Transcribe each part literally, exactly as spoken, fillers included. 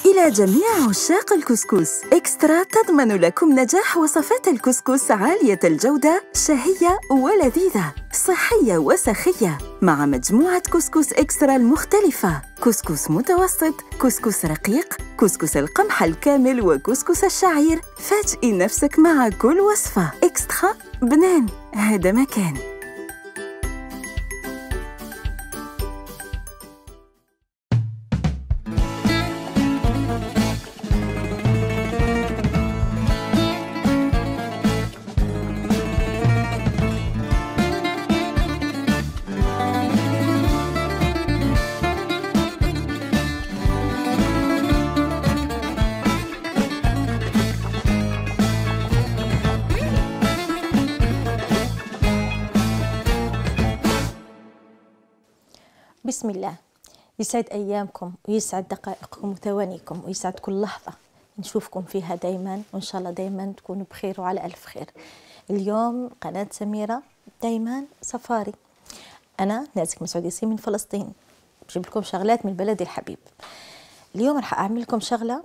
إلى جميع عشاق الكسكس، إكسترا تضمن لكم نجاح وصفات الكسكس عالية الجودة، شهية ولذيذة، صحية وسخية، مع مجموعة كسكس إكسترا المختلفة: كسكس متوسط، كسكس رقيق، كسكس القمح الكامل، وكسكس الشعير. فاجئي نفسك مع كل وصفة. إكسترا بنان، هذا مكان. بسم الله. يسعد أيامكم ويسعد دقائقكم وثوانيكم ويسعد كل لحظة نشوفكم فيها دايما، وإن شاء الله دايما تكونوا بخير وعلى ألف خير. اليوم قناة سميرة دايما سفاري. أنا نازك مسعود ياسين من فلسطين، بجيب لكم شغلات من بلدي الحبيب. اليوم رح أعمل لكم شغلة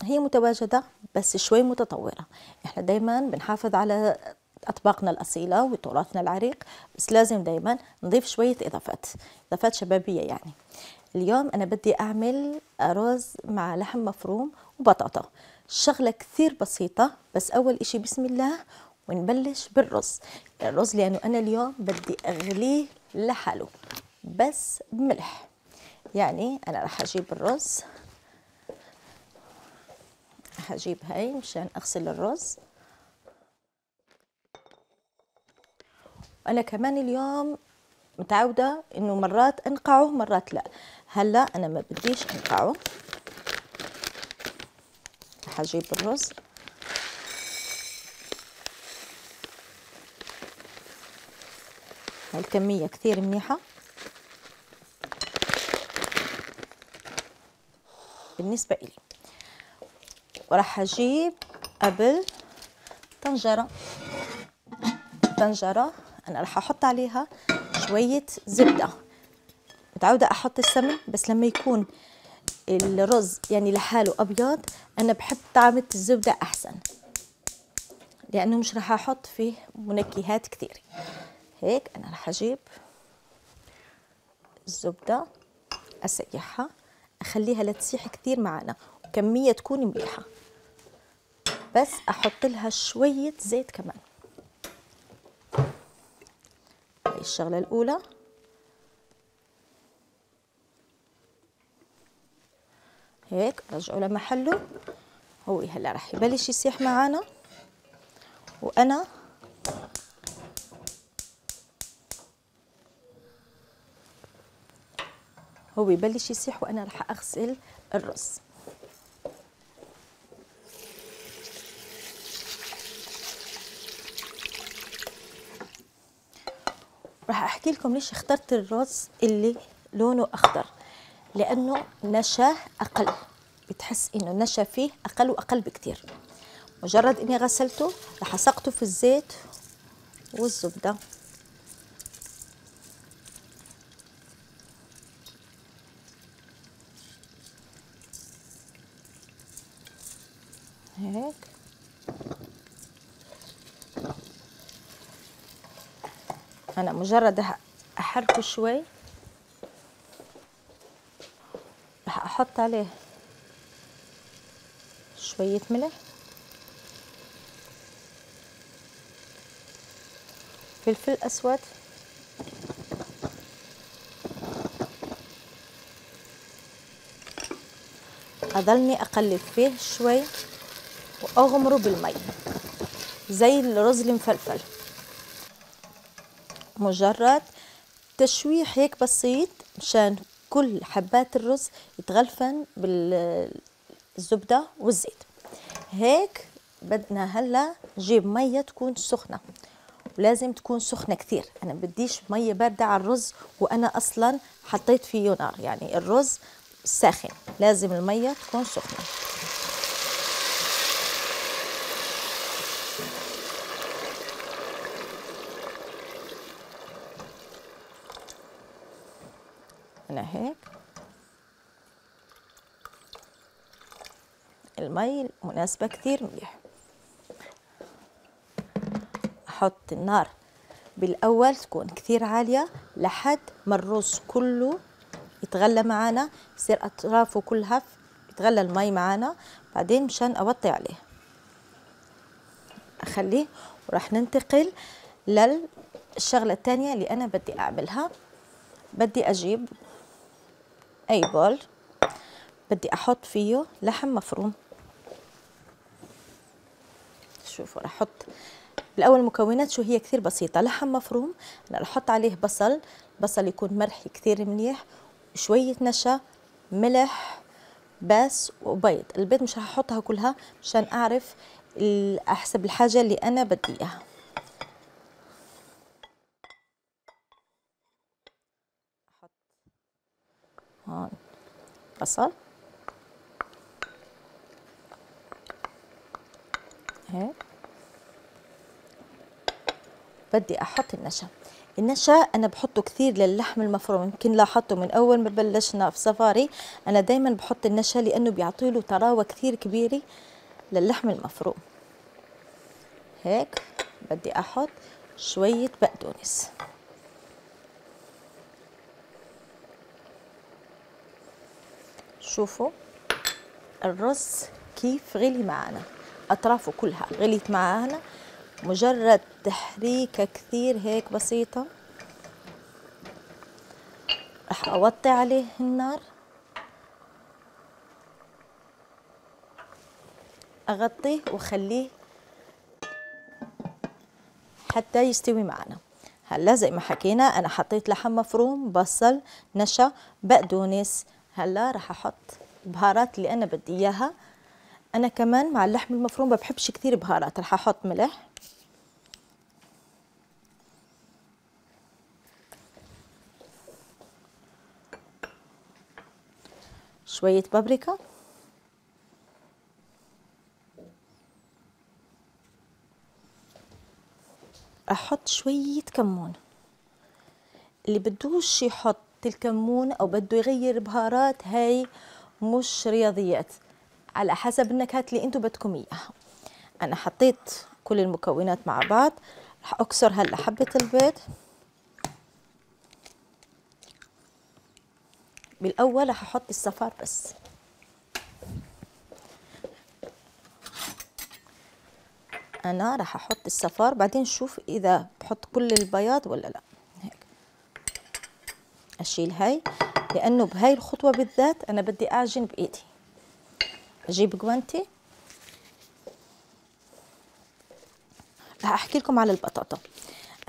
هي متواجدة بس شوي متطورة. إحنا دايما بنحافظ على أطباقنا الأصيلة وتراثنا العريق، بس لازم دايما نضيف شوية إضافات إضافات شبابية. يعني اليوم أنا بدي أعمل رز مع لحم مفروم وبطاطا. شغلة كثير بسيطة، بس أول إشي بسم الله ونبلش بالرز. الرز لأنه أنا اليوم بدي أغليه لحاله بس بملح. يعني أنا رح أجيب الرز، رح أجيب هاي مشان أغسل الرز. أنا كمان اليوم متعودة إنه مرات أنقعه مرات لا. هلا أنا ما بديش أنقعه. رح أجيب الرز، هاي الكمية كثير منيحة بالنسبة إلي. ورح أجيب قبل طنجرة طنجرة أنا رح أحط عليها شوية زبدة. متعودة أحط السمن، بس لما يكون الرز يعني لحاله أبيض أنا بحب طعمة الزبدة أحسن، لأنه مش رح أحط فيه منكهات كثير. هيك أنا رح أجيب الزبدة أسيحها، أخليها لا تسيح كثير معنا وكمية تكون مليحة، بس أحط لها شوية زيت كمان. هاي الشغلة الأولى. هيك رجعه لمحله. هو هلا رح يبلش يسيح معنا، وأنا هو يبلش يسيح وأنا رح أغسل الرز. راح احكي لكم ليش اخترت الرز اللي لونه اخضر، لانه نشاه اقل. بتحس انه النشا فيه اقل واقل بكتير. مجرد اني غسلته راح اسقطه في الزيت والزبده. هيك أنا مجرد أحركه شوي رح أحط عليه شوية ملح، فلفل أسود، أضلني أقلب فيه شوي وأغمره بالمي زي الرز المفلفل. مجرد تشويح هيك بسيط مشان كل حبات الرز يتغلفن بالزبدة والزيت. هيك بدنا هلا نجيب مية تكون سخنة، ولازم تكون سخنة كثير. أنا بديش مية باردة على الرز وأنا أصلا حطيت فيه نار، يعني الرز ساخن، لازم المية تكون سخنة. أنا هيك المي مناسبة كثير مليح. أحط النار بالأول تكون كثير عالية لحد ما الرز كله يتغلى معانا، يصير أطرافه كلها يتغلى المي معانا، بعدين مشان أوطي عليه أخليه. وراح ننتقل للشغلة الثانية اللي أنا بدي أعملها. بدي أجيب أي بول، بدي أحط فيه لحم مفروم. شوفوا راح أحط بالأول مكونات شو هي كثير بسيطة. لحم مفروم، أنا راح أحط عليه بصل، بصل يكون مرحي كثير منيح، شوية نشا، ملح بس، وبيض. البيض مش راح أحطها كلها مشان أعرف أحسب الحاجة اللي أنا بدي إياها. أحط هون بصل هيك. بدي أحط النشا. النشا أنا بحطه كثير للحم المفروم، يمكن لاحظته من أول ما بلشنا في سفاري أنا دايما بحط النشا لأنه بيعطيله طراوة كثير كبيرة للحم المفروم. هيك بدي أحط شوية بقدونس. شوفوا الرز كيف غلي معنا، أطرافه كلها غليت معنا، مجرد تحريكة كثير هيك بسيطة. رح أوطي عليه النار، أغطيه وخليه حتى يستوي معنا. هلا زي ما حكينا أنا حطيت لحم مفروم، بصل، نشا، بقدونس. هلا رح أحط البهارات اللي أنا بدي إياها. أنا كمان مع اللحم المفروم ما بحبش كثير بهارات، رح أحط ملح، شوية بابريكا، أحط شوية كمون. اللي بدوش يحط الكمون أو بده يغير بهارات هاي مش رياضيات، على حسب النكهات اللي انتو بدكم إياها. أنا حطيت كل المكونات مع بعض. رح أكسر هلا حبة البيض. بالأول رح أحط الصفار بس، أنا رح أحط الصفار بعدين شوف إذا بحط كل البياض ولا لا. هيك أشيل هاي لأنه بهاي الخطوة بالذات أنا بدي أعجن بإيدي. أجيب جوانتي. رح أحكي لكم على البطاطا.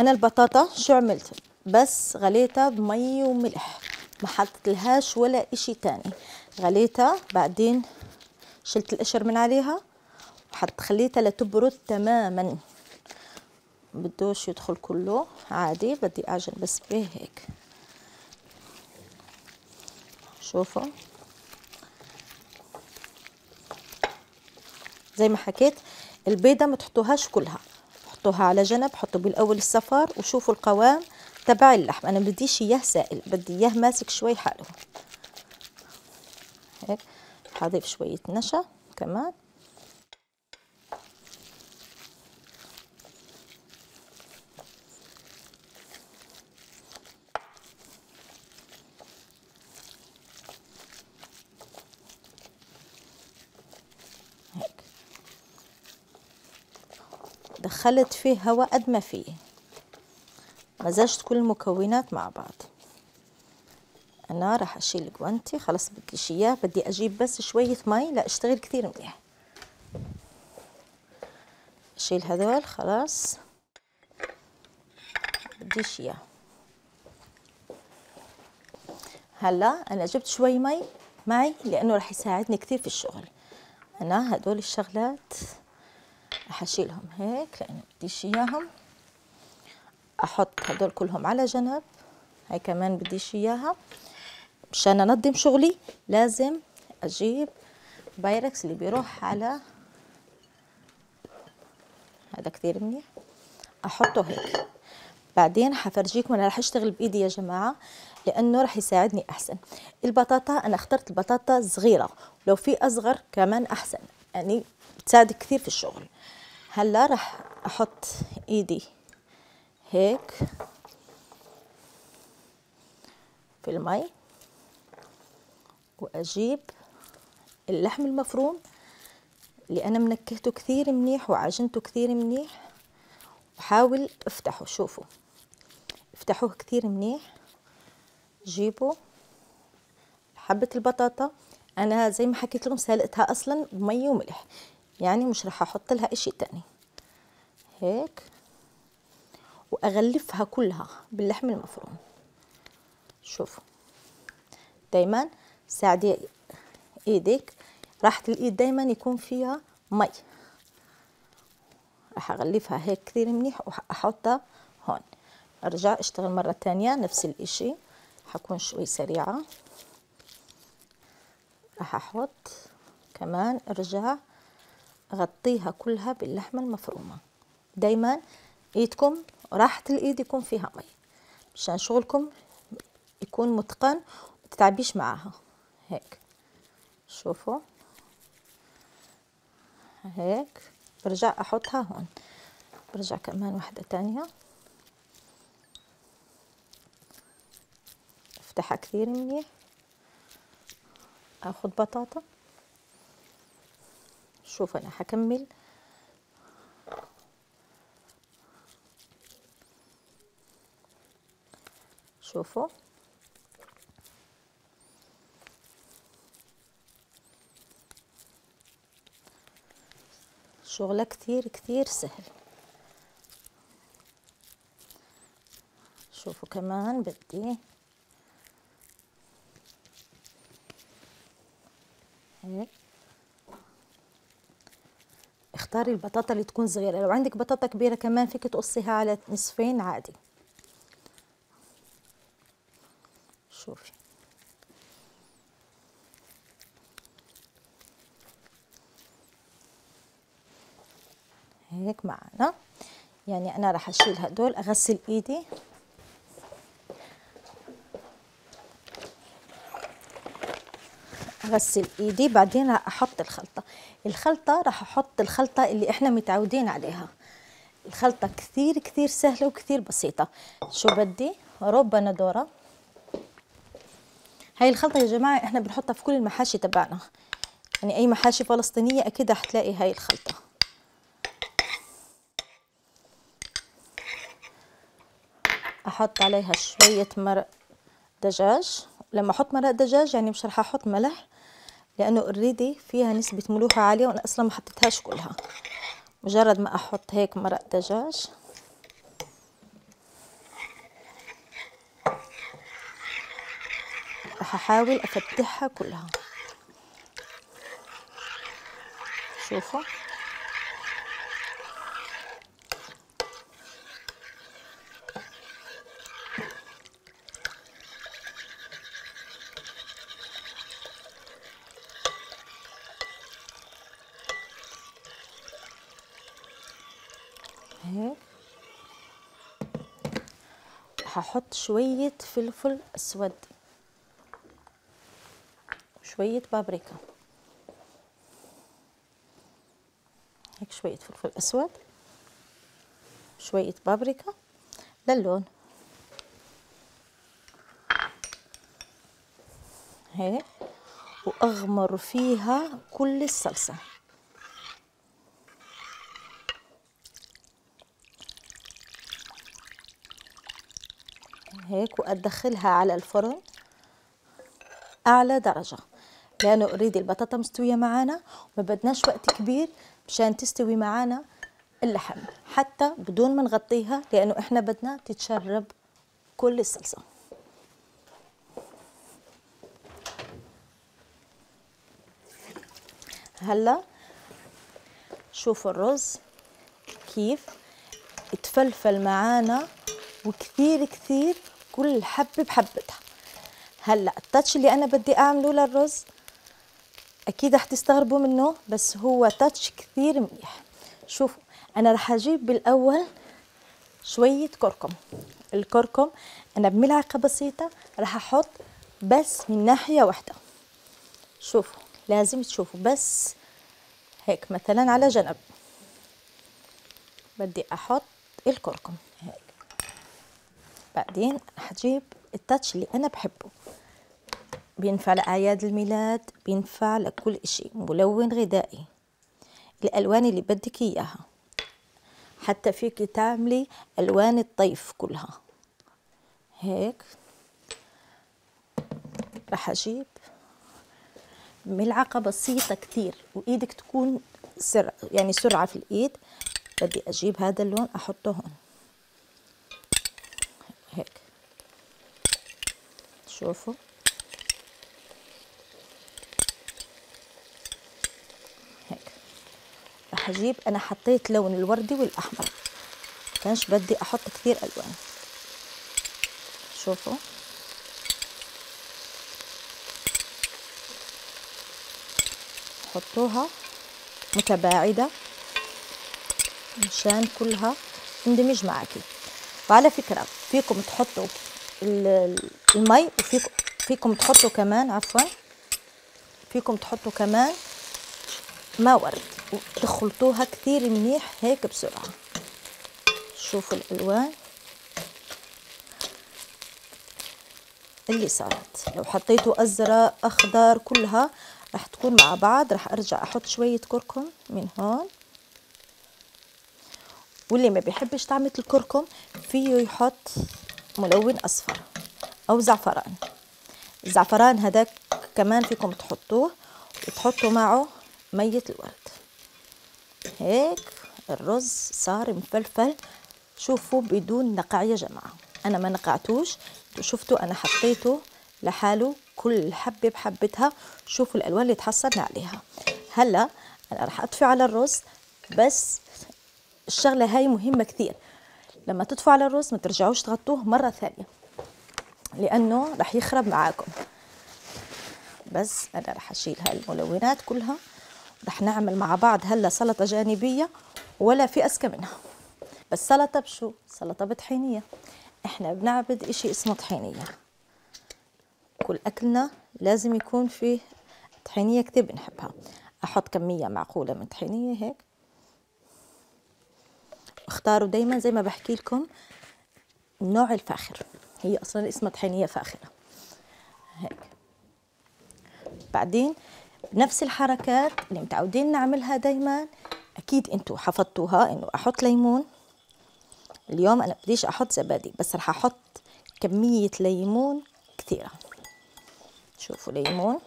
أنا البطاطا شو عملت؟ بس غليتها بمي وملح، ما حطيت لهاش ولا إشي تاني. غليتها بعدين شلت القشر من عليها وحط خليتها لتبرد تماما. بدوش يدخل كله عادي، بدي أعجن بس به هيك. شوفوا زي ما حكيت البيضة ما تحطوهاش كلها، حطوها على جنب. حطوا بالأول الصفار وشوفوا القوام تبع اللحم. أنا بديش إياه سائل، بدي إياه ماسك شوي حاله. هيك حضيف شوية نشا كمان. هيك دخلت فيه هواء قد ما فيه، مزجت كل المكونات مع بعض. أنا راح أشيل الجوانتي، خلاص بديش إياه، بدي أجيب بس شوية مي لا أشتغل كثير منيح. أشيل هذول خلاص بديش إياه. هلا أنا جبت شوي مي معي لأنه راح يساعدني كثير في الشغل. أنا هدول الشغلات راح أشيلهم هيك لأنه بديش إياهم. أحط هدول كلهم على جنب، هاي كمان بديش إياها. مشان أنظم شغلي لازم أجيب بايركس اللي بيروح على هذا كثير منيح، أحطه هيك. بعدين حفرجيكم أنا رح أشتغل بإيدي يا جماعة لأنه رح يساعدني أحسن. البطاطا أنا اخترت البطاطا صغيرة، لو في أصغر كمان أحسن. يعني بتساعد كثير في الشغل. هلا راح احط ايدي هيك في المي واجيب اللحم المفروم اللي انا منكهته كثير منيح وعجنته كثير منيح، وحاول افتحه. شوفوا افتحوه كثير منيح. جيبوا حبة البطاطا، انا زي ما حكيت لكم سلقتها اصلا بمي وملح، يعني مش راح احط لها اشي تاني. هيك واغلفها كلها باللحم المفروم. شوفوا دايما ساعدي ايدك، راحة الايد دايما يكون فيها مي. راح اغلفها هيك كثير منيح واحطها هون. ارجع اشتغل مرة تانية نفس الاشي، حكون شوي سريعة. راح احط كمان ارجع اغطيها كلها باللحمة المفرومة. دايما ايدكم راحة الايد يكون فيها مي مشان شغلكم يكون متقن ومتتعبيش معاها. هيك شوفوا هيك برجع احطها هون. برجع كمان واحدة تانية افتحها كثير منيح. اخذ بطاطا. شوف انا حكمل شوفوا شغلة كثير كثير سهل. شوفوا كمان بدي هيك. اختاري البطاطا اللي تكون صغيرة، لو عندك بطاطا كبيرة كمان فيك تقصيها على نصفين عادي. شوفي هيك معنا. يعني انا راح اشيل هدول، اغسل ايدي. اغسل ايدي بعدين راح احط الخلطة. الخلطة راح احط الخلطة اللي احنا متعودين عليها. الخلطة كثير كثير سهلة وكثير بسيطة. شو بدي؟ ربع ندورة. هاي الخلطة يا جماعة احنا بنحطها في كل المحاشي تبعنا، يعني اي محاشي فلسطينية اكيد رح تلاقي هاي الخلطة. احط عليها شوية مرق دجاج. لما احط مرق دجاج يعني مش رح احط ملح، لانه اوريدي فيها نسبة ملوحة عالية وانا اصلا ما حطيتهاش كلها. مجرد ما احط هيك مرق دجاج رح احاول افتحها كلها. شوفوا هيك. هحط شوية فلفل اسود، شوية بابريكا. هيك شوية فلفل اسود، شوية بابريكا للون. هيك واغمر فيها كل الصلصة. هيك وادخلها على الفرن اعلى درجة، لانه اوريدي البطاطا مستوية معانا وما بدناش وقت كبير مشان تستوي معانا اللحم، حتى بدون ما نغطيها، لانه احنا بدنا تتشرب كل الصلصة. هلا شوفوا الرز كيف اتفلفل معانا وكثير كثير كل حبة بحبتها. هلا التاتش اللي انا بدي اعمله للرز اكيد رح تستغربوا منه، بس هو تاتش كثير منيح. شوفوا انا رح اجيب بالاول شوية كركم. الكركم انا بملعقة بسيطة رح احط بس من ناحية واحدة. شوفوا لازم تشوفوا بس هيك مثلا على جنب. بدي احط الكركم هيك. بعدين حجيب التاتش اللي انا بحبه، بينفع لأعياد الميلاد، بينفع لكل اشي، ملون غذائي، الالوان اللي بدك اياها، حتى فيك تعملي الوان الطيف كلها. هيك رح اجيب ملعقة بسيطة كتير، وايدك تكون سرعة يعني سرعة في الايد. بدي اجيب هذا اللون احطه هون هيك. شوفوا هيك. رح اجيب، انا حطيت لون الوردي والاحمر، كانش بدي احط كثير الوان. شوفوا حطوها متباعدة مشان كلها تندمج معاكي. وعلى فكرة فيكم تحطوا المي، وفيكم فيكم تحطوا كمان عفوا فيكم تحطوا كمان ماء ورد وتخلطوها كثير منيح هيك بسرعة. شوفوا الألوان اللي صارت، لو حطيتوا أزرق أخضر كلها رح تكون مع بعض. رح أرجع أحط شوية كركم من هون، واللي ما بيحبش طعمة الكركم فيه يحط ملون أصفر أو زعفران. الزعفران هذاك كمان فيكم تحطوه وتحطوا معه مية الورد. هيك الرز صار مفلفل. شوفوا بدون نقع يا جماعة، أنا ما نقعتوش، شفتوا أنا حطيته لحاله كل حبة بحبتها. شوفوا الألوان اللي تحصلنا عليها. هلا أنا رح أطفي على الرز، بس الشغلة هاي مهمة كثير، لما تطفوا على الرز ما ترجعوش تغطوه مرة ثانية لأنه رح يخرب معاكم. بس أنا رح أشيل هاي الملونات كلها، رح نعمل مع بعض هلا سلطة جانبية ولا في أذكى منها. بس سلطة بشو؟ سلطة بطحينية. إحنا بنعبد إشي اسمه طحينية، كل أكلنا لازم يكون فيه طحينية كتير بنحبها. أحط كمية معقولة من طحينية هيك. اختاروا دايما زي ما بحكي لكم النوع الفاخر، هي أصلا اسمها طحينية فاخرة هيك. بعدين نفس الحركات اللي متعودين نعملها دايما، أكيد أنتوا حفظتوها، إنه أحط ليمون. اليوم أنا بديش أحط زبادي، بس رح أحط كمية ليمون كثيرة. شوفوا ليمون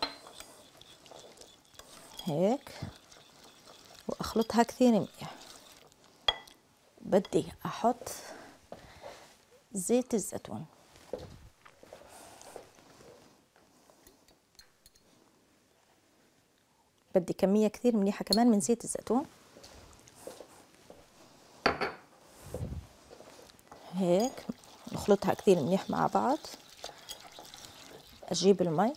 هيك، وأخلطها كثير منيح. بدي أحط زيت الزيتون، بدي كمية كثير منيحة كمان من زيت الزيتون هيك. نخلطها كثير منيح مع بعض. أجيب المي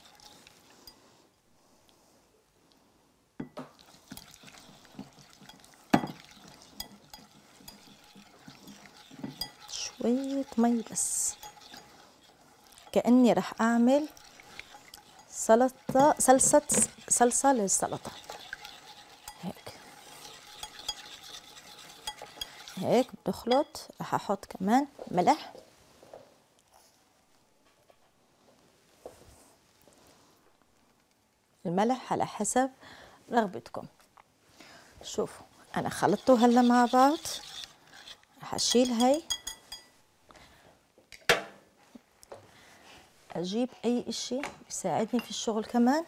شوية مي بس، كأني رح أعمل سلطة صلصة صلصة للسلطة هيك. هيك بنخلط. رح أحط كمان ملح، الملح على حسب رغبتكم. شوفوا أنا خلطته هلا مع بعض. رح أشيل هاي، أجيب أي إشي بيساعدني في الشغل كمان.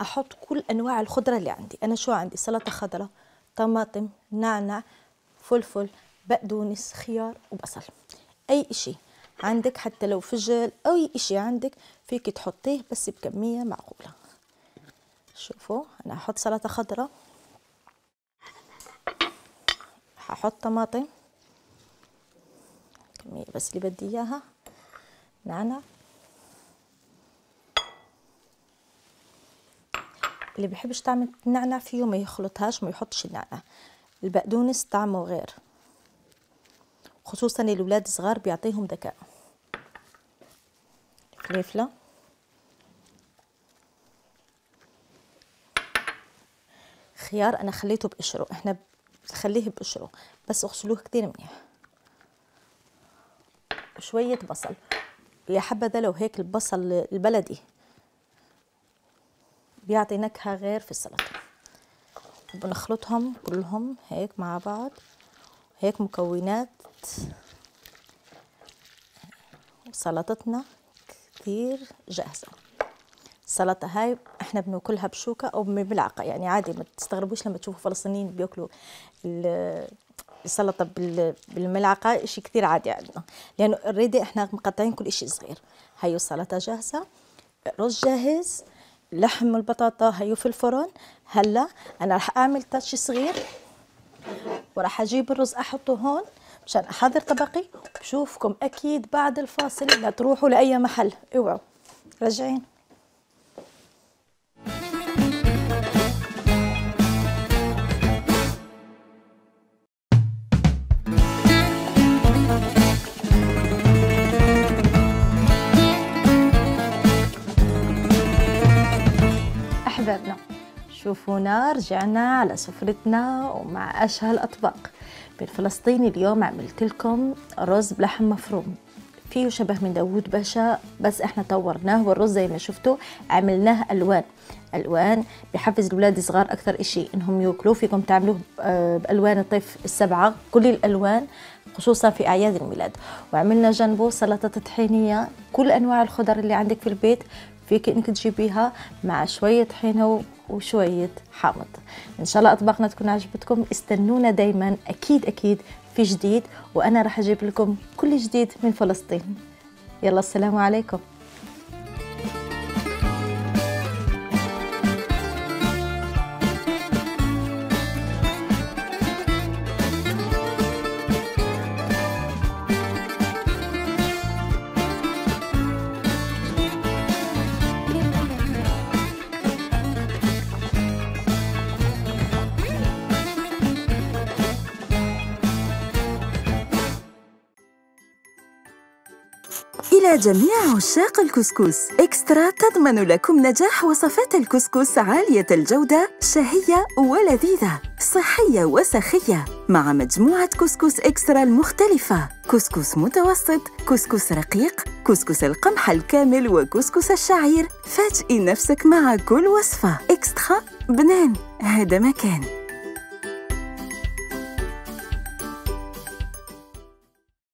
أحط كل أنواع الخضرة اللي عندي. أنا شو عندي؟ سلطة خضراء، طماطم، نعناع، فلفل، بقدونس، خيار وبصل. أي إشي عندك، حتى لو فجل أو أي إشي عندك فيك تحطيه بس بكمية معقولة. شوفوا أنا هحط سلطة خضراء، هحط طماطم كمية بس اللي بدي إياها، نعناع. اللي بيحبش طعم النعناع فيه ما يخلطهاش، ما يحطش النعناع. البقدونس طعمه غير، خصوصا الأولاد الصغار بيعطيهم ذكاء. فلفلة، خيار انا خليته بقشره، احنا خليه بقشره بس اغسلوه كتير منيح. وشوية بصل، يا حبذا لو هيك البصل البلدي بيعطي نكهة غير في السلطة. بنخلطهم كلهم هيك مع بعض. هيك مكونات سلطتنا كتير جاهزة. السلطة هاي احنا بناكلها بشوكة او بملعقة، يعني عادي ما تستغربوش لما تشوفوا فلسطينيين بياكلوا السلطة بالملعقة، اشي كتير عادي عندنا لانه اوريدي احنا مقطعين كل اشي صغير. هيو السلطة جاهزة، رز جاهز، لحم البطاطا هيو في الفرن. هلا انا رح اعمل تاتش صغير وراح اجيب الرز احطه هون مشان احضر طبقي. بشوفكم اكيد بعد الفاصل، لا تروحوا لاي محل، اوعوا راجعين. أحبابنا شوفونا رجعنا على سفرتنا ومع أشهى الأطباق. بالفلسطيني اليوم عملت لكم رز بلحم مفروم، فيه شبه من داوود باشا بس احنا طورناه، والرز زي ما شفتوا عملناه ألوان. ألوان بحفز الأولاد الصغار أكثر إشي إنهم ياكلوه. فيكم تعملوه بألوان الطيف السبعة، كل الألوان خصوصا في أعياد الميلاد. وعملنا جنبه سلطة طحينية، كل أنواع الخضر اللي عندك في البيت فيك انك تجيبيها مع شوية طحينة وشوية حامض. ان شاء الله اطباقنا تكون عجبتكم. استنونا دايما، اكيد اكيد في جديد، وانا راح اجيب لكم كل جديد من فلسطين. يلا السلام عليكم. إلى جميع عشاق الكسكس، إكسترا تضمن لكم نجاح وصفات الكسكس عالية الجودة، شهية ولذيذة، صحية وسخية، مع مجموعة كسكس إكسترا المختلفة: كسكس متوسط، كسكس رقيق، كسكس القمح الكامل، وكسكس الشعير. فاجئي نفسك مع كل وصفة. إكسترا بنان، هذا مكان.